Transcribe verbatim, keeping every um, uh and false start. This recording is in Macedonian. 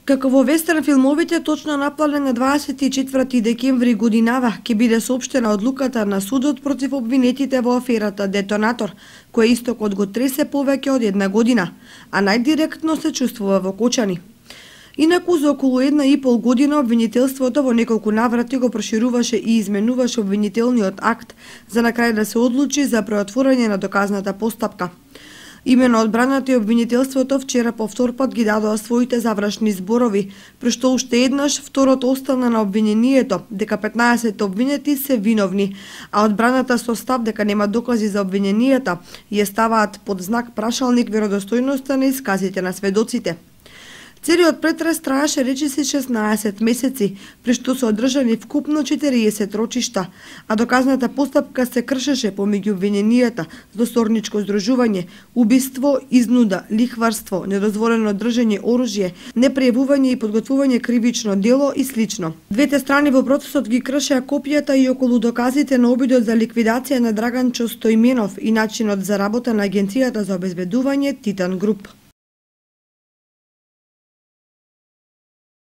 Како во вестерн филмовите, точно напланен на дваесет и четврти декември годинава ќе биде соопштена одлуката на судот против обвинетите во аферата Детонатор, која истокот го тресе повеќе од една година, а најдиректно се чувствува во Кочани. Инаку за околу една и пол година обвинителството во неколку наврати го прошируваше и изменуваше обвинителниот акт за на крај да се одлучи за преотворање на доказната постапка. Имено одбраната и обвинителството вчера повтор пат ги дадоа своите завршни зборови, при што уште еднаш второто остана на обвинението дека петнаесет обвинети се виновни, а одбраната со став дека нема докази за обвиненијата ја ставаат под знак прашалник веродостојноста на исказите на сведоците. Целиот претрес траеше речиси шеснаесет месеци, при што се одржани вкупно четириесет рочишта, а доказната постапка се кршеше помеѓу обвиненијата злосторничко здружување, убиство, изнуда, лихварство, недозволено држење оружје, непријавување и подготвување кривично дело и слично. Двете страни во процесот ги кршеа копијата и околу доказите на обидот за ликвидација на Драганчо Стојменов и начинот за работа на Агенцијата за обезбедување Титан Груп.